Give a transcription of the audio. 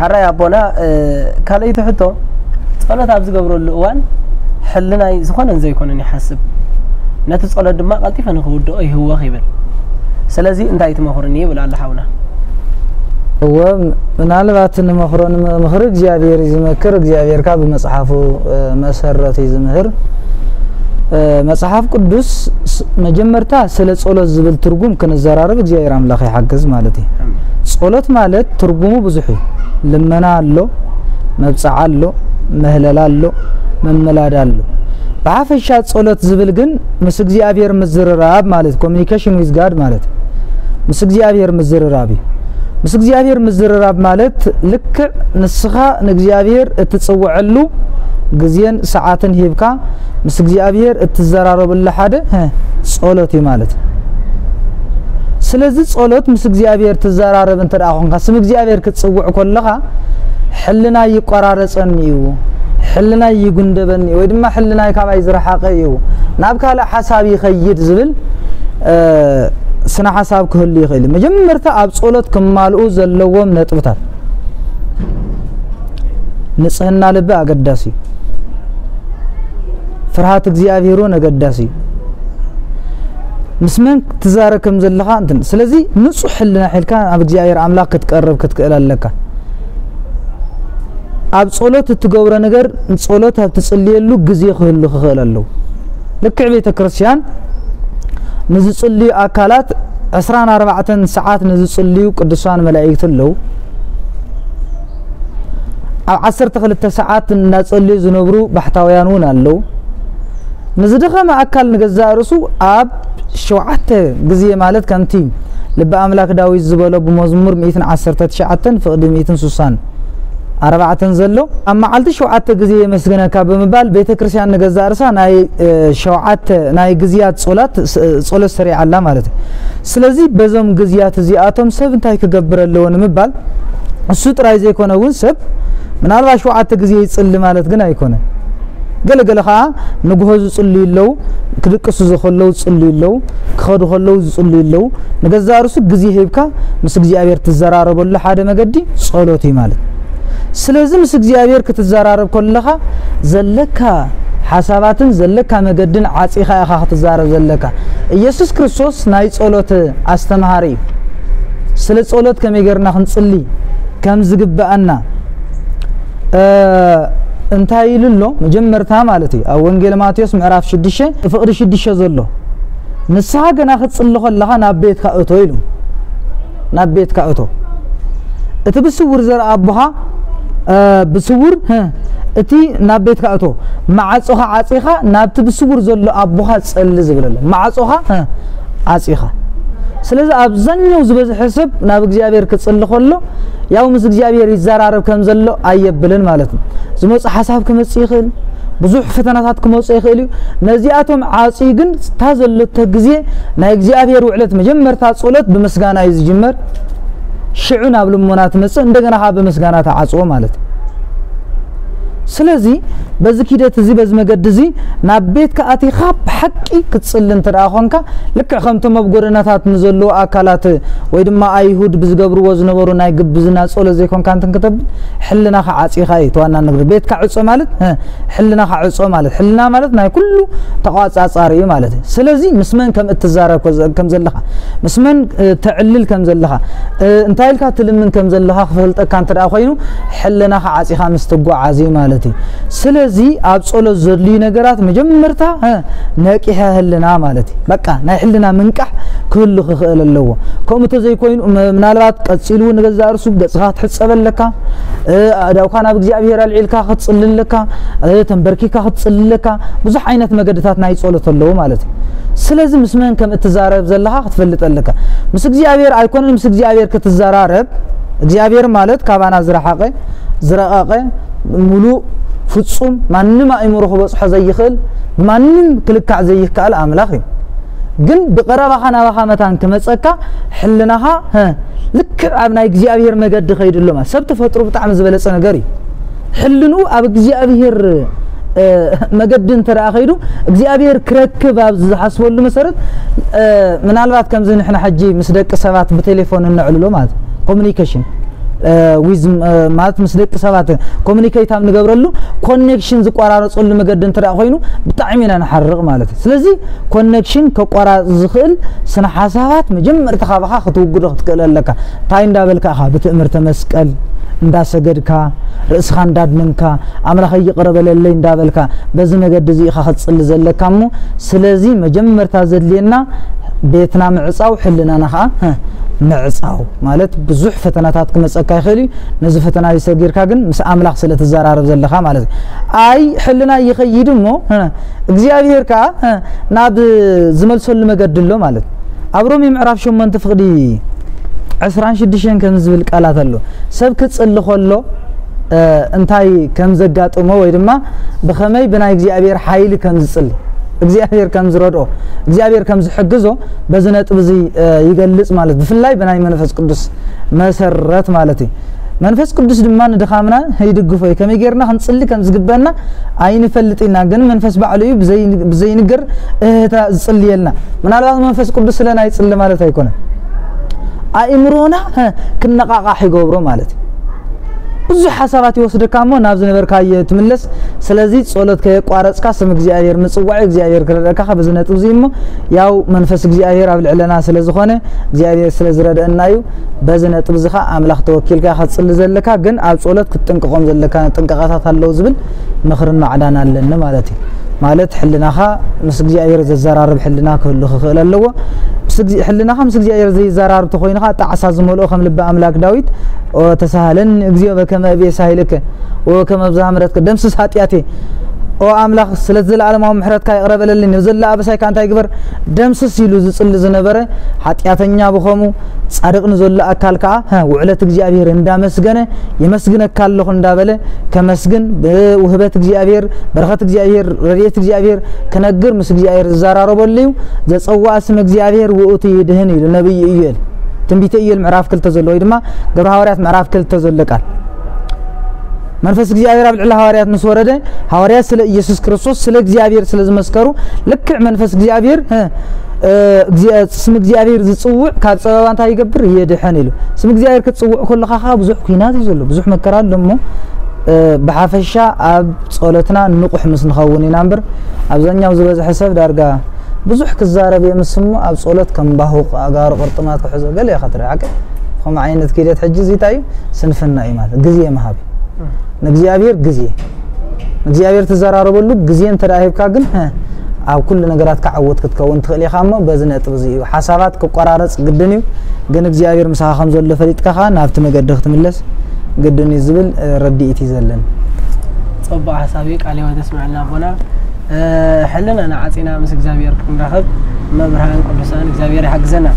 ኣራይ ኣቦና፣ ካልኣይቲ ሕቶ፣ ጸሎት ኣብ ዝገብረሉ እዋን ሕልናይ ዝኾነን ዘይኮነን ይሓስብ፣ ነቲ ጸሎት ድማ ቀልጢፈ ንኽውድኦ ይህወኽ ይብል። ስለዚ እንታይ ትመኽሩኒ ይብል ኣሎ ሓውና። እወ፣ ምናልባት ንመኽሮ ንምኽሪ እግዚኣብሔር እዩ ዝመክር፣ እግዚኣብሔር ካብ ብመጽሓፉ መሰረት እዩ ዝምህር። መጽሓፍ ቅዱስ መጀመርታ ስለ ጸሎት ዝብል ትርጉም ክንዘራረብ እግዚኣብሔር ኣምላኽ ይሓግዝ ማለት እዩ። ጸሎት ማለት ትርጉሙ ብዙሕ እዩ። ልመና ኣሎ፣ መብጽዓ ኣሎ፣ ምህለላ ኣሎ፣ መመላድ ኣሎ። ብሓፈሻ ጸሎት ዝብል ግን ምስ እግዚኣብሔር ምዝርራብ ማለት፣ communication with God ማለት፣ ምስ እግዚኣብሔር ምዝርራብ እዩ። ምስ እግዚኣብሔር ምዝርራብ ማለት ልክዕ ንስኻ ንእግዚኣብሔር እትጽውዐሉ ግዜን ሰዓትን ሂብካ ምስ እግዚኣብሔር እትዘራረበሉ ሓደ ጸሎት እዩ ማለት። ስለዚ ጸሎት ምስ እግዚኣብሔር ትዘራረብ እንተ ደኣ ኾንካ፣ ስም እግዚኣብሔር ክትጽውዕ ከለኻ፣ ሕልናይ ይቆራረጸኒ እዩ፣ ሕልናይ ይጉንደበኒ ወይ ድማ ሕልናይ ካባይ ዝረሓቐ እዩ፣ ናብ ካልእ ሓሳብ ይኸይድ ዝብል ስነ ሓሳብ ክህሉ ይኽእል እዩ። መጀመርታ ኣብ ጸሎት ክማልኡ ዘለዎም ነጥብታት፣ ንጽህና ልቢ ኣገዳሲ እዩ። ፍርሃት እግዚኣብሔር እውን ኣገዳሲ እዩ። ምስ መን ክትዛረብ ከም ዘለኻ እንትን። ስለዚ ንጹሕ ሕልና ሒልካ ናብ እግዚኣብሔር ኣምላኽ ክትቀርብ ክትክእል ኣለካ። ኣብ ጸሎት እትገብሮ ነገር፣ ጸሎት ኣብ ትጽልየሉ ግዜ ክህሉ ክኽእል ኣለዎ። ልክዕ ቤተ ክርስቲያን ንዝጽልዩ ኣካላት ዕስራን ኣርባዕተን ሰዓት ንዝጽልዩ ቅዱሳን መላእክት ኣለዉ። ኣብ ዓሰርተ ክልተ ሰዓት እናጸልዩ ዝነብሩ ባሕታውያን እውን ኣለዉ። ንዝደኸመ ኣካል ንገዛእ ርእሱ ኣብ ሸውዓተ ግዜ ማለት ከምቲ ልቢ ኣምላክ ዳዊት ዝበሎ ብመዝሙር ሚእትን ዓሰርተ ትሽዓተን ፍቕዲ ሚእትን ሱሳን ኣርባዕተን ዘሎ ኣብ መዓልቲ ሸውዓተ ግዜ የመስግነካ ብምባል ቤተ ክርስቲያን ንገዛእ ርእሳ ናይ ሸውዓተ ናይ ግዜያት ጸሎት ሰሪዓ ኣላ ማለት እዩ። ስለዚ በዞም ግዜያት እዚኣቶም ሰብ እንታይ ክገብር ኣለዎ ንምባል እሱ ጥራይ ዘይኮነ እውን ሰብ ምናልባት ሸውዓተ ግዜ ይጽሊ ማለት ግን ኣይኮነን። ገለገለ ኸዓ ንግሆ ዝጽልዩ ኣለዉ፣ ክድቅሱ ከለዉ ዝጽልዩ ኣለዉ፣ ክኸዱ ከለዉ ዝጽልዩ ኣለዉ። ንገዛእ ርእሱ ግዜ ሂብካ ምስ እግዚኣብሔር ትዘራረበሉ ሓደ መገዲ ጸሎት እዩ ማለት። ስለዚ ምስ እግዚኣብሔር ክትዘራረብ ከለኻ ዘለካ ሓሳባትን ዘለካ መገድን ዓጺኻ ኢኻ ክትዛረብ ዘለካ። ኢየሱስ ክርስቶስ ናይ ጸሎት ኣስተምሃሪ እዩ። ስለ ጸሎት ከመይ ጌርና ክንጽሊ ከም ዝግብኣና እንታይ ኢሉ ኣሎ? መጀመርታ ማለት እዩ ኣብ ወንጌል ማቴዎስ ምዕራፍ ሽዱሽተ ፍቕዲ ሽዱሽተ ዘሎ ንስኻ ገና ክትጽሊ ከለኻ ናብ ቤትካ እቶ ኢሉ። ናብ ቤትካ እቶ። እቲ ብስውር ዘርኢ ኣቦኻ ብስውር እቲ ናብ ቤትካ እቶ ማዕጾኻ ዓጺኻ ናብቲ ብስውር ዘሎ ኣቦኻ ጸሊ ዝብል ኣሎ። ማዕጾኻ ዓጺኻ። ስለዚ ኣብዛኛው ዝበዝሐ ሰብ ናብ እግዚኣብሔር ክጽሊ ከሎ ያው ምስ እግዚኣብሔር ይዘራረብ ከም ዘሎ ኣየብልን ማለት ነው። ዝመጽእ ሓሳብ ክመጽእ ይኽእል፣ ብዙሕ ፈተናታት ክመጽእ ይኽእል እዩ። ነዚኣቶም ዓጽዩ ግን እታ ዘለቶ ግዜ ናይ እግዚኣብሔር ውዕለት መጀመርታ ጸሎት ብምስጋና እዩ ዝጅመር። ሽዑ ናብ ልሞና ትመጽእ፣ እንደገና ኸዓ ብምስጋና ትዓጽዎ ማለት እዩ። ስለዚ በዚ ኪደት እዚ በዚ መገዲ እዚ ናብ ቤትካ ኣቲኻ ብሓቂ ክትጽሊ እንተ ደኣ ኾንካ ልክዕ ከምቶም ኣብ ጎደናታት ንዘለዉ ኣካላት ወይ ድማ ኣይሁድ ብዝገብርዎ ዝነበሩ ናይ ግብዝና ጸሎት ዘይኮንካ እንትን ክተብል ሕልናኻ ዓጺኻ እዩ እቲ ዋና ነገር። ቤትካ ዕጾ ማለት ሕልናኻ ዕጾ ማለት ሕልና ማለት ናይ ኩሉ ተቋጻጻሪ እዩ ማለት እዩ። ስለዚ ምስ መን ከም እትዛረብ ከም ዘለኻ ምስ መን ተዕልል ከም ዘለኻ እንታይ ኢልካ ትልምን ከም ዘለኻ ክፈልጠካ እንተ ደኣ ኮይኑ ሕልናኻ ዓጺኻ ምስ ትጓዓዝ እዩ ማለት እዩ። ስለዚ ኣብ ጸሎት ዘድልዩ ነገራት መጀመርታ ነቂሐ ህልና ማለት እዩ። በቃ ናይ ሕልና ምንቃሕ ክህሉ ክኽእል ኣለዎ። ከምኡ እንተዘይኮይኑ ምናልባት ቀጺሉ ንገዛእ ርእሱ ገጽኻ ክትሕጸብ ኣለካ፣ ኣእዳውካ ናብ እግዚኣብሔር ኣልዒልካ ክትጽሊ ኣለካ፣ ተንበርኪካ ክትጽሊ ኣለካ። ብዙሕ ዓይነት መገድታት ናይ ጸሎት ኣለዉ ማለት እዩ። ስለዚ ምስ መን ከም እትዛረብ ዘለኻ ክትፈልጥ ኣለካ። ምስ እግዚኣብሔር ኣይኮነን ምስ እግዚኣብሔር ክትዘራረብ። እግዚኣብሔር ማለት ካባና ዝረሓቐ፣ ዝረቐቐ፣ ምሉእ፣ ፍጹም፣ ማንም ኣእምሮ ክበጽሖ ዘይኽእል፣ ብማንም ክልካዕ ዘይከኣል ኣምላኽ እዩ። ግን ብቐረባኻ ናባኻ መታን ክመጸካ ሕልናኻ ልክዕ ኣብ ናይ እግዚኣብሔር መገዲ ከይዱ ኣሎ ማለት። ሰብ ተፈጥሮ ብጣዕሚ ዝበለጸ ነገር እዩ። ሕልንኡ ኣብ እግዚኣብሔር መገዲ እንተ ደኣ ከይዱ እግዚኣብሔር ክረክብ ኣብ ዝሓስበሉ መሰረት ምናልባት ከምዚ ንሕና ሕጂ ምስ ደቂ ሰባት ብቴሌፎን እነዕልሎ ማለት ኮሙኒኬሽን እ፣ ዊዝ እ፣ ማለት ምስ ደቂ ሰባት ኮሚኒኬት ኣብ ንገብረሉ ኮኔክሽን ዝቆራረፀሉ መገዲ እንተ ደኣ ኮይኑ ብጣዕሚ ኢና ንሓርቕ ማለት እዩ። ስለዚ ኮኔክሽን ከቋራርፅ ዝኽእል ስነ ሓሳባት መጀመርታ ካባኻ ክትውግዶ ክትክእል ኣለካ። እንታይ እንዳበልካ ኢኻ? ብትእምርተ መስቀል እንዳሰገድካ፣ ርእስኻ እንዳድነንካ፣ ኣምላኸይ ይቕረ በለለይ እንዳበልካ፣ በዚ መገዲ እዚ ኢኻ ክትጽሊ ዘለካ እሞ፣ ስለዚ መጀመርታ ዘድልየና ቤትና ምዕጻው፣ ሕልናና ኸዓ፣ ህ፣ ምዕጻው ማለት ብዙሕ ፈተናታት ክመጸካ ይኽእል እዩ። ነዚ ፈተና እዚ ሰጊርካ ግን ምስ ኣምላኽ ስለ ትዘራረብ ዘለኻ ማለት እዩ። ኣይ ሕልና ይኸይድ እሞ፣ ህ፣ እግዚኣብሔር ከኣ፣ ህ፣ ናብ ዝመልሰሉ መገዲ ኣሎ ማለት እዩ። ኣብ ሮሜ ምዕራፍ ሸሞንተ ፍቕዲ ዕስራን ሽዱሽተን ከም ዝብል ቃላት ኣሎ። ሰብ ክጽሊ ከሎ፣ እ፣ እንታይ ከም ዘጋጥሞ ወይ ድማ ብኸመይ ብናይ እግዚኣብሔር ሓይሊ ከም ዝጽሊ፣ እግዚኣብሔር ከም ዝረድኦ፣ እግዚኣብሔር ከም ዝሕግዞ በዚ ነጥቢ እዚ፣ እ፣ ይገልጽ ማለት፣ ብፍላይ ብናይ መንፈስ ቅዱስ መሰረት ማለት እዩ። መንፈስ ቅዱስ ድማ ንድኻምና ይድግፎ እዩ። ከመይ ጌርና ክንጽሊ ከም ዝግበአና ኣይንፈልጥ ኢና፣ ግን መንፈስ ባዕሉ እዩ ብዘይ-፣ ብዘይንገር እህታ ዝጽልየልና። ምናልባት መንፈስ ቅዱስ ስለ ናይ ጽሊ ማለት ኣይኮነን። ኣእምሮና፣ ሀ፣ ክነቓቓሕ ይገብሮ ማለት እዩ። ብዙሕ ሓሳባት ይወስደካ እሞ ናብ ዝነበርካዮ ትምለስ። ስለዚ ጸሎት ከየቋረጽካ ስም እግዚኣብሔር ምጽዋዕ እግዚኣብሔር ክረድኣካ በዚ ነጥቢ እዚ እሞ ያው መንፈስ እግዚኣብሔር ኣብ ልዕለና ስለ ዝኾነ እግዚኣብሔር ስለ ዝረድአና እዩ። በዚ ነጥቢ እዚ ኸኣ ኣምላኽ ተወኪልካ ኢኻ ትጽሊ ዘለካ፣ ግን ኣብ ጸሎት ክትጥንቀቖም ዘለካ ጥንቃቐታት ኣለዉ ዝብል ምኽርን ማዕዳን ኣለኒ ማለት እዩ። ማለት ሕልናኻ ምስ እግዚኣብሔር ዘዘራርብ ሕልና ክህሉ ክኽእል ኣለዎ። ምስ እግዚ-፣ ሕልናኻ ምስ እግዚኣብሔር ዘይዘራርብ ተኾይኑ ኸኣ ጣዕሳ ዝመልኦ ከም ልቢ ኣምላክ ዳዊት፣ "ኦ ተሳሃለኒ እግዚኦ በከመ እቤ ሳሂልከ ወበከመ ብዝሃ ምሕረትከ ደምስስ ኃጢአቴ"፣ "ኦ ኣምላኽ ስለ ዘለዓለማዊ ምሕረትካ ይቕረ በለልኝ፣ ንዘሎ ኣበሳይ ከኣ እንታይ ግበር?" ደምስስ ኢሉ ዝጽሊ ዝነበረ ኃጢአተኛ ብኸሙ ጻድቕ ንዘሎ ኣካል ከኣ፣ ሀ፣ ውዕለት እግዚኣብሔር እንዳመስገነ "የመስግነካ ኣለኹ" እንዳበለ ከመስግን፣ ብውህበት እግዚኣብሔር፣ በረኸት እግዚኣብሔር፣ ረድኤት እግዚኣብሔር ክነግር ምስ እግዚኣብሔር ዝዘራረበሉ እዩ። "ዘጸውኣ ስም እግዚኣብሔር ውእቱ ይድህን" ኢሉ ነቢይ ኢዩኤል። ትንቢተ ኢዩኤል ምዕራፍ ክልተ ዘሎ ወይ ድማ ግብረ ሃዋርያት ምዕራፍ ክልተ ዘሎ ቃል። መንፈስ እግዚኣብሔር ኣብ ልዕሊ ሃዋርያት ምስ ወረደ፣ ሃዋርያት ስለ ኢየሱስ ክርስቶስ፣ ስለ እግዚኣብሔር ስለ ዝመስከሩ፣ ልክዕ መንፈስ እግዚኣብሔር፣ እ፣ እ፣ እግዚኣብ-፣ ስም እግዚኣብሔር ዝጽውዕ ካብ ጸበባ እንታይ ይገብር? የድሕን ኢሉ። ስም እግዚኣብሔር ክትጽውዕ ከለኻ ኸኣ ብዙሕ ኲናት እዩ ዘሎ፣ ብዙሕ መከራ ኣሎ እሞ፣ እ፣ ብሓፈሻ ኣብ ጸሎትና ንቑሕ ምስ ንኸውን ኢና እምበር፣ ኣብዛኛው ዝበዝሐ ሰብ ዳርጋ ብዙሕ ክዛረብ የምስ እሞ ኣብ ጸሎት ከም ባሁቕ ኣእጋሩ ቅርጥማት ክሕዞ ገለ ኢኻ ትርኢ። ሓቂ ከምኡ ዓይነት ኪደት ሕጂ እዚ እንታይ እዩ? ስንፍና እዩ ማለት ግዜ ምሃብ እዩ። ንእግዚኣብሔር ግዜ፣ ንእግዚኣብሔር ትዘራረበሉ ግዜ እንተ ደኣ ሂብካ ግን፣ ሀ፣ ኣብ ኩሉ ነገራትካ ዕዉት ክትከውን ትኽእል ኢኻ። እሞ በዚ ነጥቢ እዚ እዩ ሓሳባት ክቆራረጽ ግድን እዩ። ግን እግዚኣብሔር ምሳኻ ከም ዘሎ ፈሊጥካ ኸኣ ናብቲ መገዲ ክትምለስ ግድን እዩ ዝብል፣ እ፣ ረድኢት እዩ ዘለኒ። ጽቡቕ ሓሳብ እዩ። ቃለ ሕይወት የስምዐልና ኣቦና። እ፣ ሕልናና ዓጺና ምስ እግዚኣብሔር ክንራኸብ መብርሃን ቅዱሳን እግዚኣብሔር ይሓግዘና።